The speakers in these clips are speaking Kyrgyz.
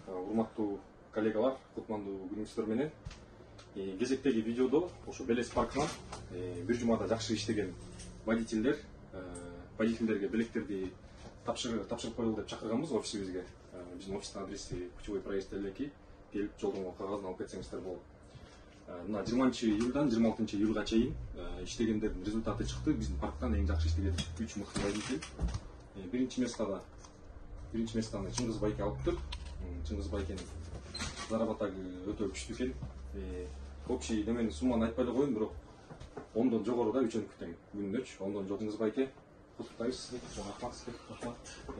Урматтуу коллегалар, кутмандуу күнүңүздөр менен. Кезектеги видеодо ошо Белес паркынан бир жумада жакшы иштеген водительдерге билектерди тапшырып коелу деп чакырганбыз офисибизге. Биздин офистин адреси Путевой проезд 52, келип жолдон кагазын алып кетсеңиздер болот. Мына 20-июлдан 26-июлга чейин иштегендердин результаты чыкты. Биздин парктан эң жакшы иштеген 3 мыкты водитель. Биринчи местаны Чыңгыз Байке алыптыр. Чыңгыз Байкенин заработагы өтө күчтүү экен. Общий немени сумманы айтпай эле коеюн, бирок 10дон жогору да үчөнүк тең күнүнөчү. 10дон жогору Чыңгыз Байке. Куттуктайбыз сизди. Рахмат сизге.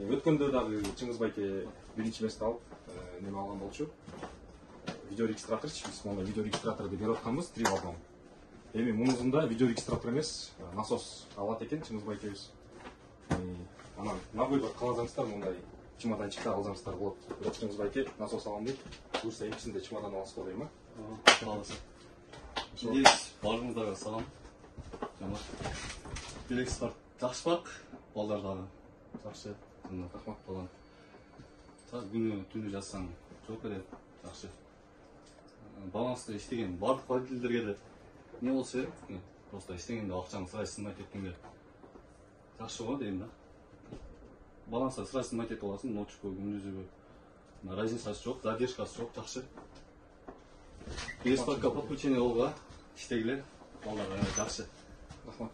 Өткөндө дагы Чыңгыз Байке биринчи место алып, неме алган болчу. Видеорегистраторчу. Биз мондай видеорегистраторду берип атканбыз 3 балдан. Эми мунусунда видеорегистратор эмес, насос алат экен Чыңгыз Байкебиз. Анан набойдор каласаңыздар мындай чемоданчыкта алсаңыздар болот. Бирок Чыңгыз Байке насос алам дейт. Буюрса экисинде чемодан аласыз дейм, Аласыз. Билекс баарыңыздарға салам. Билекс парк жакшы парк, балдар дагы жакшы. Рахмат балам. Күнү түнү жазсаң жооп берет, жакшы. Баланста иштеген бардык водительдерге де не болсо керек? Просто иштегенде акчаны сырай сынбайт эткенге жакшы го дейм да. Баланста сырай сынбайт этип аласың, ночку, күндүзүбү. Разницасы жок, задержкасы жок, жакшы. Белес паркка подключение болгула иштегилер, балдарга жакшы. Рахмат.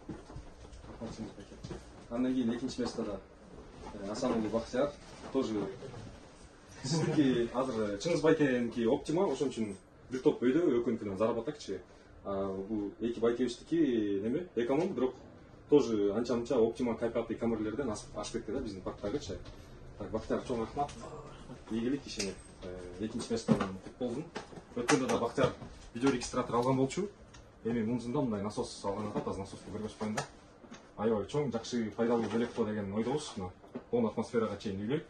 Рахмат Чыңгыз Байке. Андан кийин экинчи местода Асан уулу Бактияр тоже сиздики азыр Чыңгыз Байкеники оптима, ошон үчүн бир топ өйдө экөөнүкүнөн заработакчы. Бул эки байкебиздики неме эконом, бирок тоже анча-мынча оптима кайпаттуу камерлерден ашып кетти да биздин парктагычы. Так, Бактияр чоң рахмат. Ийгилик ишиңер. Экинчи местодан кут болдун. Өткөндө да Бактияр видеорегистратор алган болчу. Эми мунусунда мындай насос алган атат, азыр насоску көргөз коеюн да. Аябай чоң, жакшы, пайдалуу белек го деген ойдобуз. Оң атмосферага чейин үйлөйт.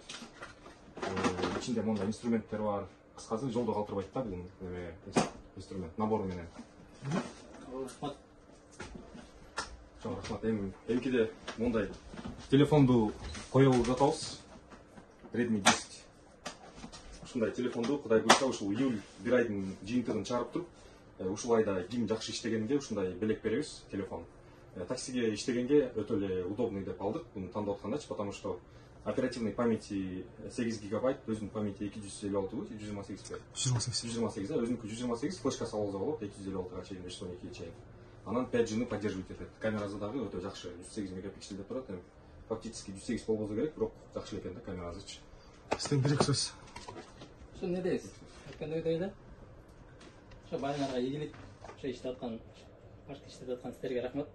Ичинде мондай инструменттер бар. Кыскасы жолдо калтырбайт да бул неме инструмент набору менен. Рахмат. Чоң рахмат. Эмкиде мондай телефонду коелуп жатабыз. Redmi 10. Ушундай телефонду Кудай буйрса ушул июль бир айдын жыйынтыгын чыгарып туруп, ушул айда ким жакшы иштегенге ушундай белек беребиз, телефон. Таксиге иштегенге өтө эле удобный деп алдык, буну тандап аткандачы, потому что оперативный памяти 8 гигабайт, өзүнүн памяти 256 128 бе? 128, өзүнүкү 128, флешка салса болот, 256-га чейин, 512-ге чейин. Анан 5G'ны поддерживать этет. Камерасы дагы өтө жакшы, 108 мегапиксель деп турат. Фактически 108 болбосо керек, бирок жакшы экен да камерасычы. Сизден бир сөз. Ошо не дейсиз? Өткөндө да. Ошо балдарга ийгилик, ошо иштеп аткан, парк иштеп аткан сиздерге рахмат.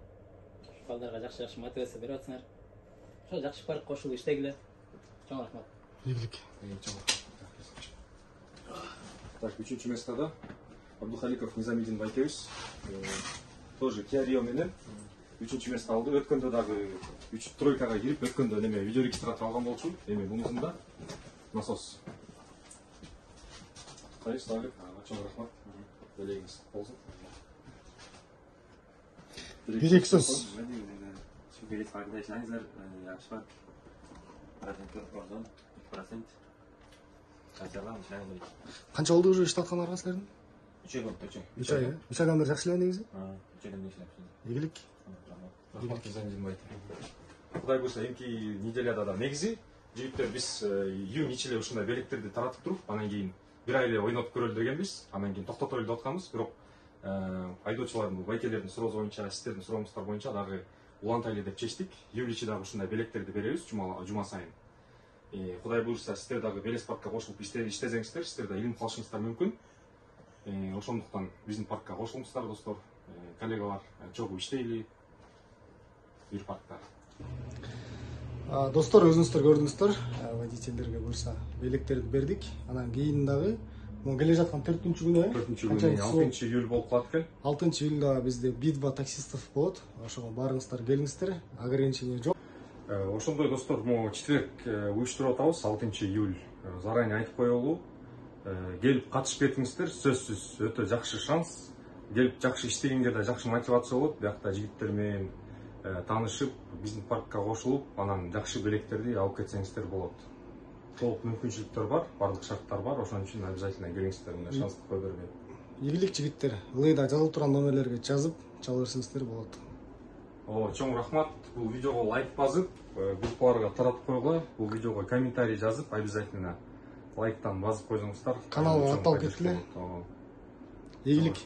Балдарга жакшы мотивация берип атсыңар. Ошо жакшы парк кошулуп иштегиле. Чоң рахмат. Ийгилик. Так, үчүнчү местода Абдухаликов Низамидин байкебиз. Тоже Kia Rio менен 3-чү место алды. Өткөндө дагы 3-тройкага кирип, өткөндө неме видеорегистратор алган болчу. Эми мунусунда насос. Кайсы дагы чоң рахмат. Белегиңиз болсун. Бир-эки сөз. Белес паркында иштеңиздер, жакшы парк. Проценттер ордон, 2%. Качалам иштеңиздер. Канча болду уже иштеп аткандарга силердин? 3 ай болду, 3 ай. 3 ай, 3 айдан бери жакшы эле негизи? 3 айдан бери иштеп. Ийгилик. Рахмат Низамидин байке. Кудай буйрса эмки неделяда да негизи жигиттер биз июнь ичиле ушундай белектерди таратып туруп, анан кийин бир ай эле ойнотуп көрөлү дегенбиз. Анан кийин токтотолу деп атканбыз, бирок айдоочулардын, байкелердин суроосу боюнча, сиздердин сурооңуздар боюнча дагы улантайлы деп чечтик. Июль ичи дагы ушундай белектерди беребиз жума сайын. Кудай буйрса сиздер дагы Белес паркка кошулуп иштесеңиздер, сиздер да илим алышыңыздар мүмкүн. Ошондуктан биздин паркка кошулуңуздар, достор, коллегалар, чогуу иштейли бир паркта. Достор, өзүңүздөр көрдүңүздөр, водительдерге буйрса белектерди бердик. Анан кийин дагы могу келе жаткан 4-күнү, 6 июль болуп калат экен. 6 июлда бизде битва таксистов болот. Ошого баарыңыздар келиңиздер. Ограничение жок. Ошондой достор, могу четверг уюштуруп атабыз, 6 июль. Заранее айтып коелу. Келип катышып кетиңиздер, сөзсүз өтө жакшы шанс. Келип жакшы иштегенге да жакшы мотивация болот. Биякта жигиттер менен таанышып, биздин паркка кошулуп, анан жакшы белектерди алып кетсеңиздер болот. Толук мүмкүнчүлүктөр бар, бардык шарттар бар, ошон үчүн обязательно келиңиздер, мына шансты кое бербейм. Ийгилик жигиттер, ылыйда жазылып турган номерлерге жазып чала берсеңиздер болот. Чоң рахмат. Бул видеого лайк басып, группаларга таратып койгула. Бул видеого комментарий жазып, обязательно лайктан басып койсоңуздар. Каналга атталып кеткиле. Ийгилик.